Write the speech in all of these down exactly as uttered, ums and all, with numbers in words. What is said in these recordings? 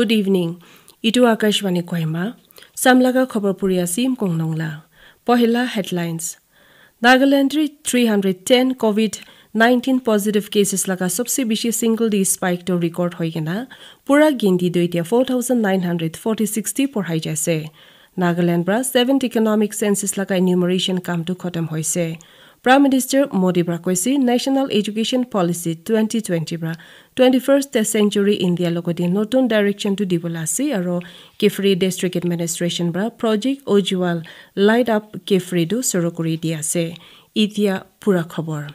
Good evening. Itu Akashvani Kohima. Samlaga khobor puri asim kongnong la. Pohila headlines. Nagaland ri three hundred ten COVID-nineteen positive cases laga sobse bishi single day spike to record hoi kena pura ginti tu itia four thousand nine hundred forty-six ti porhai jaise. Nagaland pra seventh economic census laga enumeration kam tu khotom hoise. Prime Minister Modi pra koise National Education Policy twenty twenty pra twenty-first century India logoti notun direction tu dibola ase aro Kiphire District Administration pra Project Ujjwal Light Up Kiphire tu suru kuri di ase. Itia pura khobor.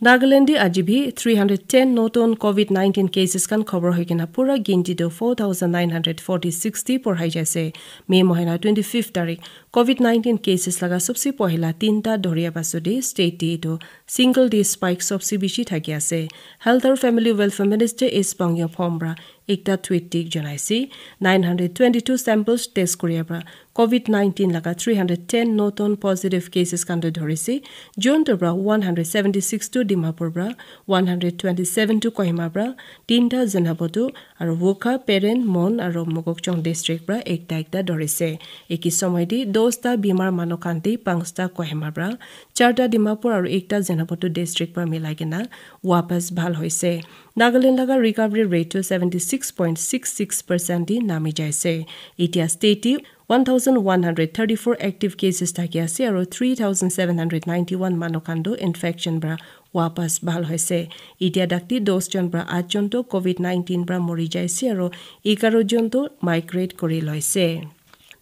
Nagaland di aji bi three hundred ten notun COVID-nineteen cases kan khobor hoi kena pura ginti tu four thousand nine hundred forty-six ti porhai jaise. May mohina twenty-fifth tarik COVID-nineteen cases laga sobse pohila tinta doria pasodi state ti itu single day spike sobse bishi thaki ase. Health aru Family Welfare Minister S Pangyo Phom pra ekta tweet tik janaise. Nine hundred twenty-two samples test kuria pra COVID-nineteen laga three hundred ten notun positive cases kan tu dhorise. June tu pra one hundred seventy-six tu Dimapur pra, one hundred twenty-seven tu Kohima pra, tinta Zenabo tu, aru Wokha, Peren, Mon aru Mokokchung district pra ekta ekta dhorise. Eki somoy di dosta bimar manu kan di pangsta Kohima pra, charta Dimapur aru ekta Zenabo tu district pra milai kena wapas bhal hoise. Nagaland laga recovery rate tu seventy-six point six six percent di nami jaise. Itia state ti one thousand one hundred thirty-four active cases thaki ase aru three thousand seven hundred ninety-one manu kan tu infection pra wapas bhal hoise. Itia dakti dos jon pra at jon tu COVID-nineteen pra mori jaise aru egaro jon tu migrate kuri loise.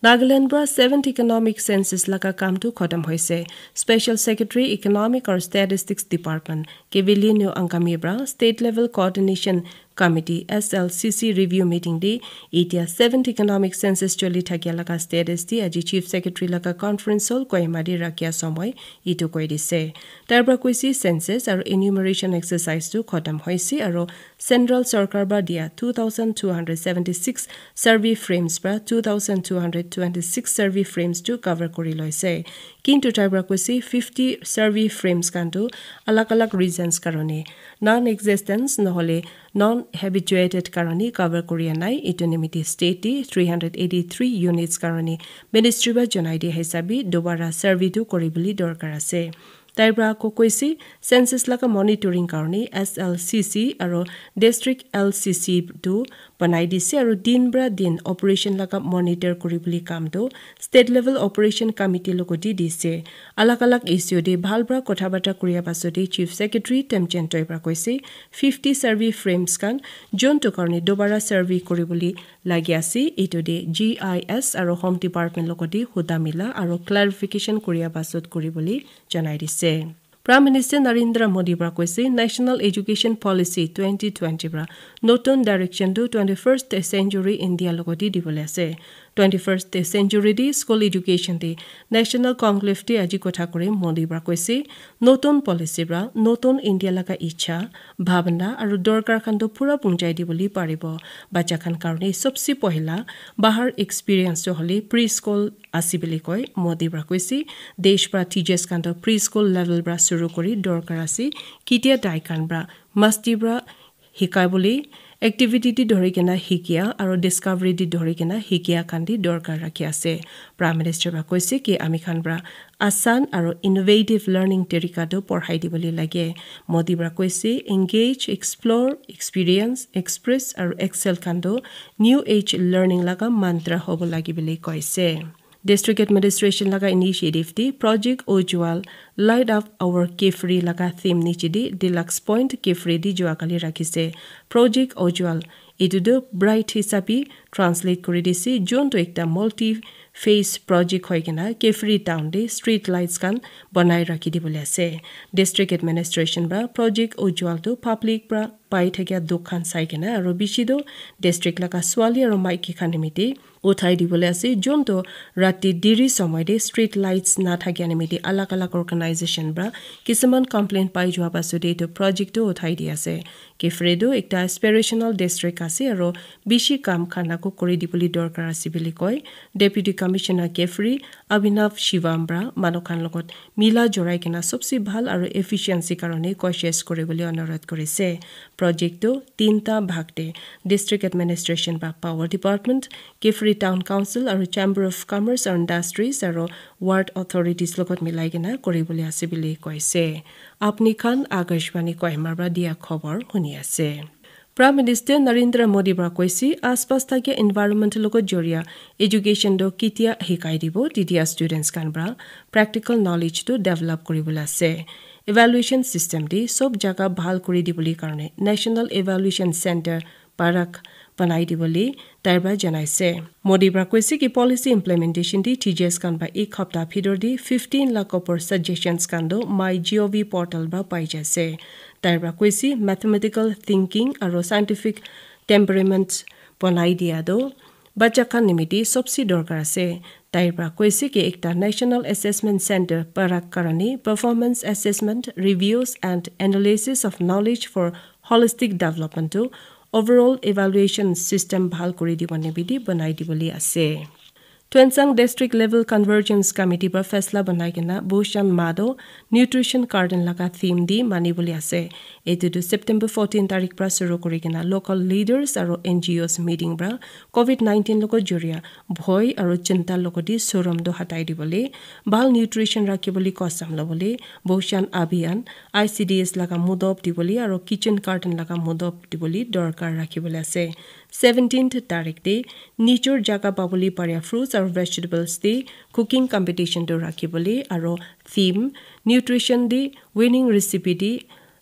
Nagaland pra seventh economic census laga kam tu khotom hoise. Special Secretary Economic aru Statistics Department Kevilinu Angami pra state level coordination Committee, S L C C, review meeting di itia seventh economic census choli thakia laga status di aji Chief Secretary laga conference hall Kohima di rakhia somoy itu koi dise. Tai pra koise census aru enumeration exercise tu khotom hoise aru Central Sarkar pra dia two thousand two hundred seventy-six survey frames pra two thousand two hundred twenty-six survey frames tu cover kuri loise. Kintu tai pra koise fifty survey frames kan tu alag alag reasons karone, non-existence nohole non-habituated karone cover kuria nai. Itu nimite state te three hundred eighty-three units karone ministry pra janai dia hisabe dobara survey tu kuri bole dorkar ase. Tai pra ako koise census laga monitoring karone S L C C aru district L C C tu banai dise aru din pra din operation laga monitor kuri bole kam tu state level operation committee logoti dise. Alag alag issue te bhal pra kotha bata kuria pasode Chief Secretary Temjen Toi pra koise fifty survey frames kan jon tu karone dobara survey kuri bole lagi ase. Itu te G I S aru Home Department logoti huda mila aru clarification kuria pasot kuri bole janai dise. Prime Minister Narendra Modi pra koise National Education Policy twenty twenty pra notun direction tu twenty-first century India logoti dibole ase. Twenty-first century di school education di National Conclave di aji kotha kuri Modi pra koise notun policy pra notun India laga ichha, bhabna aru dorkar khan tu pura punjai dibole paribo. Bacha khan karone sobse pohila bahar experience tu hole preschool ase bole koi. Modi pra koise desh pra teachers khan tu preschool level pra suru kuri dorkar ase. Kitia tai khan pra masti pra hikai bole activity di dhori kena hikia aru discovery di dhori kena hikia khan di dorkar rakhi ase. Prime Minister pra koise ki ami khan pra asan aru innovative learning tarika tu porhai dibole lage. Modi pra koise engage, explore, experience, express aru excel khan tu new age learning laga mantra hobo lage bole koise. District Administration laga initiative te Project Ujjwal Light Up Our Kiphire laga theme niche te Deluxe Point Kiphire te juakali rakhise. Project Ujjwal itu tu bright hisabe translate kuri dise, jun tu ekta multi phase project hoi kena Kiphire town te street lights khan banai rakhi dibole ase. District Administration pra Project Ujjwal tu public pra pai thakia dukh khan sai kena aru bishi tu district laga swali aru maiki khan nimite uthai dibole ase, jun tu rati diri somoy te street lights na thakia nimite alag alag organization pra kisuman complaint pai jua pasode etu project tu uthai di ase. Kiphire tu ekta aspirational district ase aru bishi kam khan ako kuri dibole dorkar ase bole koi. Deputy Commissioner Kiphire Abhinav Shivam pra manu khan logot mila jorai kena sobse bhal aru efficiency karone koshish kuri bole onurodh kurise. Project tu tinta bhag te district administration ba power department, Kiphire Town Council aru Chamber of Commerce and Industries aru ward authorities logot milai kena kori bole ase bole koise. Apni khan Akashvani Kohima para dia khobor huni ase. Prime Minister Narendra Modi para koise, aspas thakia environment logot joria education tu ketia hikai dibo, tetia students khan para practical knowledge tu develop kori bole ase. Evaluation system te sob jaga bhal kori dibole karne National Evaluation Center Parak banai dibole tai para janai ase. Modi para koise ki policy implementation te teachers khan para ek hapta bhitor te fifteen lakh upor suggestions khan tu My G O V portal para pai jai ase. Tai para koise mathematical thinking aru scientific temperament banai dia tu bacha khan nimite sobse dorkar ase. Tai para koise ki ekta National Assessment Center Parak karne performance assessment, reviews and analysis of knowledge for holistic development tu overall evaluation system bhal kori dibo nimite banai dibole ase. Tuensang District Level Convergence Committee para faisla banai kena Bhushan Mado nutrition carton laga theme di mani bole ase. Etu tu September fourteen tarik para shuru kori kena local leaders aru N G Os meeting para COVID nineteen logot joria bhoi aru chinta logot di sorom tu hatai dibole, bhal nutrition rakhi bole custom lobole, Bhushan Abhiyan, I C D S laga mudop dibole aru kitchen carton laga mudop dibole dorkar rakhi bole ase. Seventeenth tarik te nijor jaga pabole paria fruits aru vegetables te cooking competition tu rakhi bole aru theme nutrition te winning recipe te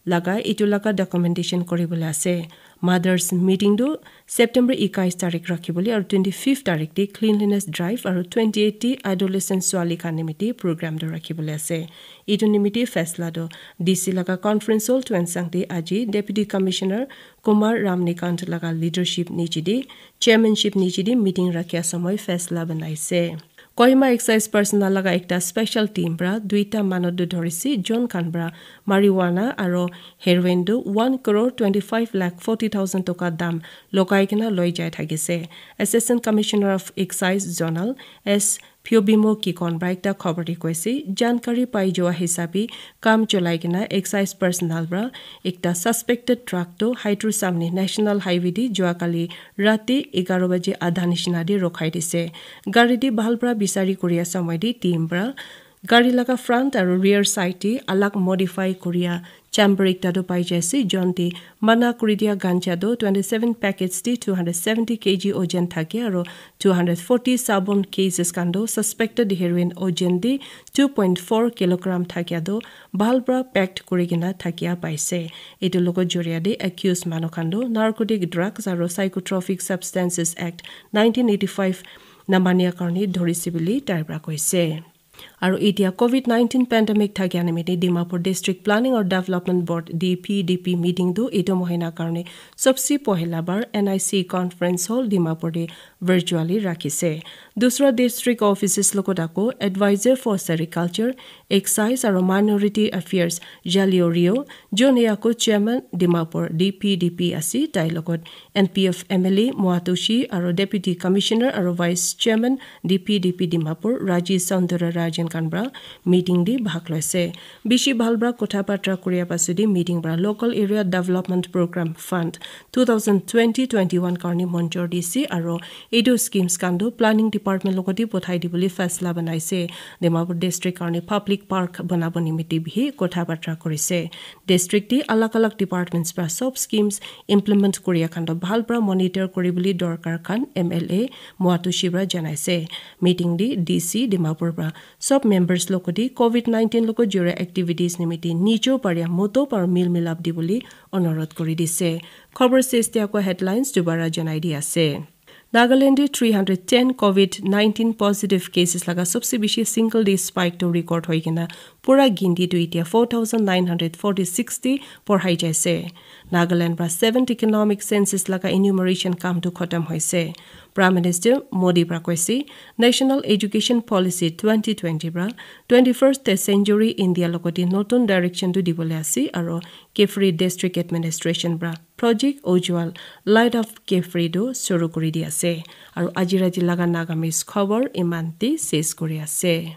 laga etu laga documentation kori bole ase. Mothers meeting tu September ekais tarik rakhi bole aru twenty-fifth tarik te cleanliness drive aru twenty-eight te adolescent swali khan nimite program tu rakhi bole ase. Etu nimite faisla tu D C laga conference hall Tuensang te aji Deputy Commissioner Kumar Ramnikant laga leadership niche te, chairmanship niche te meeting rakhia samoi faisla banai ase. Kohima excise personnel laga ekta special team para duita manu tu dhorisi, jon khan para marijuana aru heroin tu one crore twenty-five lakh forty thousand toka dam logai kena loi jai thakise. Assistant Commissioner of Excise Zonal S Pyobimo Kikon para ekta khobor te koise, jankari pai jua hisabe kam cholai kena excise personnel para ekta suspected truck tu Hydro Samni National Highway te jua kali rati egharo baje adha nishina te rokhai dise. Gari te bhal para bisari kuri asa moi te team para gari laga front aru rear side te alag modify kuria chamber ekta tu pai jai ase, jon te mana kuri dia ganja tu twenty-seven packets te two hundred seventy K G ojen thake aru two hundred forty sabon cases khan tu suspected heroin ojen te two point four kilogram thakia tu bhal para packed kuri kena thakia paise. Etu logot joria te accused manu khan tu Narcotic Drugs aru Psychotropic Substances Act nineteen eighty-five namania karne dhorisi bole tai para koise. Aru etia COVID nineteen pandemic thakia nimite Dimapur District Planning or Development Board, D P D P meeting tu etu mohina karne sobse pohila bar N I C conference hall Dimapur te virtually rakhise. Dusra district offices logot ako advisor for sericulture, excise aru minority affairs Jalio Rio, jone ako chairman Dimapur D P D P ase, tai logot N P F M L A Moatoshi aru deputy commissioner aru vice chairman D P D P Dimapur Raji Soundara Rajan khan para meeting te bhag loise. Bishi bhal para kotha batra kuria pasudi meeting para local area development program fund two thousand twenty twenty-one karne monjor dise aru etu schemes khan tu planning department logot te pothai dibole faisla banaise. Dimapur district karne public park banabo nimite bhi kotha batra kurise. District te alag alag departments para sob schemes implement kuria khan tu bhal para monitor kuri bole dorkar khan M L A Moatoshi para janaise. Meeting te D C Dimapur para sob members logot te COVID nineteen logot joria activities nimite nijo paria moto para mil milap dibole onurodh kuri dise. Khobor ses te ako headlines dubara janai di ase. Nagaland te three hundred ten COVID nineteen positive cases laga sobse bishi single day spike to record hoi kena pura ginti tu etia four thousand nine hundred forty-six te porhai jaise. Nagaland para seventh economic census laga enumeration kam tu khatam hoise. Prime Minister Modi para koise, National Education Policy twenty twenty para twenty-first century India logot te notun direction tu dibole ase aru Kiphire District Administration para Project Ujjwal Light of Kiphire tu shuru kuri di ase. Aru aji rati laga Nagamese khobor iman te ses kuri ase.